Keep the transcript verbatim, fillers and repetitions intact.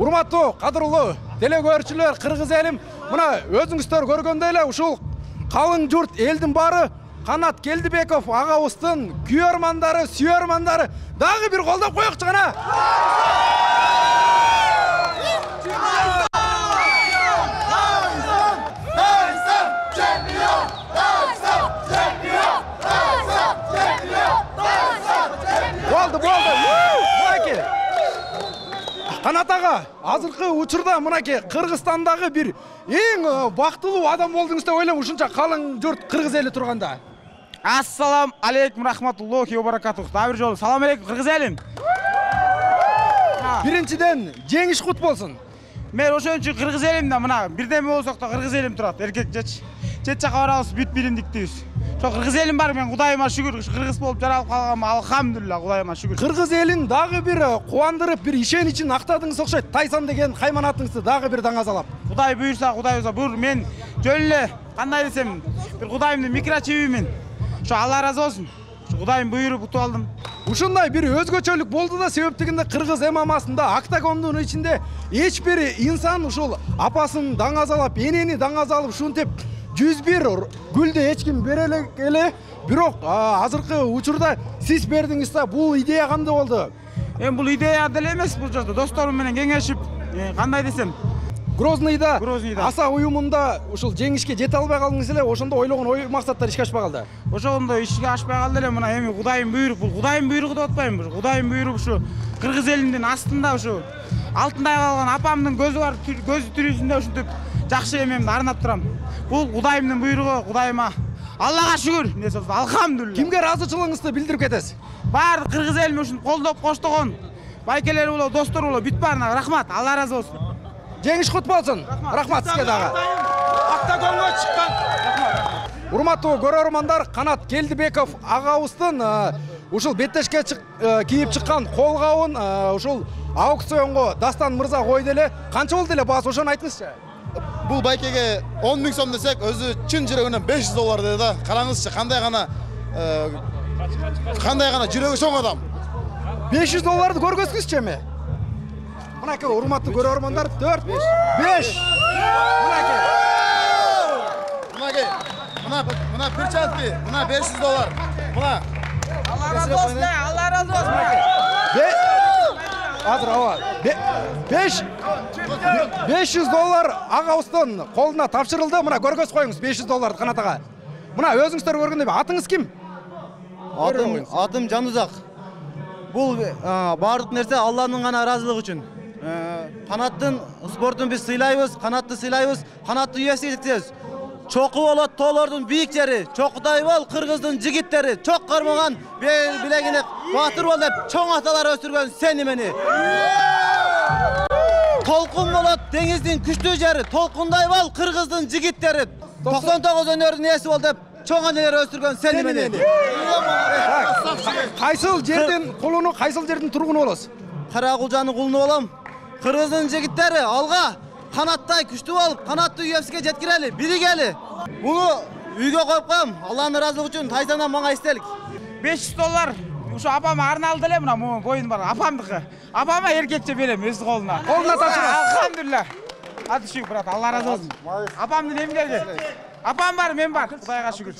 Урматтуу, кадырлуу телекөрүүчүлөр, кыргыз элим, мына өзүңүздөр көргөндөй эле ушул калың журт, элдин баары Канат Келдибеков агабыздын күйөрмандары, сүйөрмандары дагы бир колдоп коёкчу кана. Болду, болду. Мынакей. Канат ага, азыркы учурда мынакей Кыргызстандагы бир эң бактылуу адам болдуңуз деп ойлойм, ушунча калың журт кыргыз эли турганда. Ассалам алейкум рахматуллахи ва баракатух. Дагы бир жолу салам алейкум кыргыз элим. Биринчиден жеңиш кут болсун. Мен ошон үчүн кыргыз элимде мына бирдеме болсок да кыргыз элим турат. Эркек жеч. Чет жака барабыз, бүт биримдиктибиз. Ошо кыргыз элим бар, мен Кудайыма шүгүр, кыргыз болуп жаралып калганыма алхамдулилла, Кудайыма шүгүр. Кыргыз элин дагы бир кубандырып, бир ишеничин актадыңыз окшойт. Тайсан деген кайманатыңызды дагы бир даңазалап. Кудай буйрса, Кудай буйрса, бур мен жөн эле кандай десем, бир Кудайымдын микрочибимин. Ошо Алла ыраазы болсун. Кудайым буйруп утуп алдым. Ушундай бир өзгөчөлүк болду да, себептигинде кыргыз эмамасында октагондун ичинде эч бир инсан ушул апасын даңазалап, энени даңазалап, ушинтип жүз бир гүлдү эч ким бере эле. Бирок азыркы учурда сиз бердиңиз да, бул идея кандай болду? Эми бул идея деле эмес, бул жерде досторум менен кеңешип, кандай десем, Грознийда, Грознийда аса уюмунда ушул жеңишке жете албай калдыңыз эле, ошондо ойлогон ой максаттар ишке ашпай калды. Ошондо ишке ашпай калды эле, мына эми Кудайым буйруп, бул Кудайым буйругу деп атпайм, Кудайым буйруп ушу кыргыз элинин астында ушу алтындай калган апамдын көзү бар, көзү тирүүсүндө ушинтип жакшы эмемди арнап турам. Бул Кудайымдын буйругу, Кудайыма Аллага шүгүр, эмне сөз, алхамдулилла. Кимге ыраазычылыгыңызды билдирип кетесиз? Баардык кыргыз элим ушуну колдоп коштогон байкелер болобу, достор болобу, бүт баарына рахмат, Алла ыраазы болсун. Жеңиш кут болсун. Рахмат сизге дагы. Октагонго чыккан. Урматтуу көрөрмандар, Канат Келдибеков агабыздын ушул беттешке кийип чыккан колгабын ушул аукционго Дастан мырза койду эле. Канча болду эле баасы, ошону айтыңызчы. Бул байкеге он миң сом десек, өзү чын жүрөгүнөн беш жүз доллар деди да. Караңызчы, кандай гана кандай гана жүрөгү чоң адам. беш жүз долларды көргөзсүңүзчү эми? Мынакей урматтуу көрөрмандар, төрт, беш. Мынакей. Мынакей. Мына мына перчатки, мына беш жүз доллар. Мына. Алла ыраазы болсун, Алла ыраазы болсун. Азыр аба. беш беш жүз доллар агабыздын колуна тапшырылды. Мына көргөз коюңуз беш жүз долларды Канат ага. Мына өзүңүздөр көргөндөй, атыңыз ким? Атым атым Жанузак. Бул баардык нерсе Алланын гана ыраазылыгы үчүн. Канаттын спортун биз сыйлайбыз, канатты сыйлайбыз, канатты үйөсүгө жеткизебиз. Чоку болот тоолордун бийик жери, чокудай бол кыргыздын жигиттери, чок кармаган билегине батыр бол деп чоң аталар өстүргөн сени мени. Толкун болот деңиздин күчтүү жери, толкундай бол кыргыздын жигиттери, токсон тогуз өнөрдүн ээси бол деп чоң анелер өстүргөн сени мени. Кайсыл жердин кулуну, кайсыл жердин тургуну болосуз? Каракулжанын кулуну болом. Кыргыздын жигиттери алга канаттай күчтүү болуп, канатты үйөсүгө жеткирели, биригели. Буну үйгө коюп коем. Алланын ыраазылыгы үчүн Тайсандан мага эстелик. беш жүз доллар ушу апама арналды эле, мына могу боюн бар, апамдыкы. Апама эркекче берем өз колуна. Колуна тапшырам. Алхамдулилла. Аты шүгүр брат, Алла ыраазы болсун. Апамдын эмгеги. Апам бар, мен бар. Кудайга шүгүр.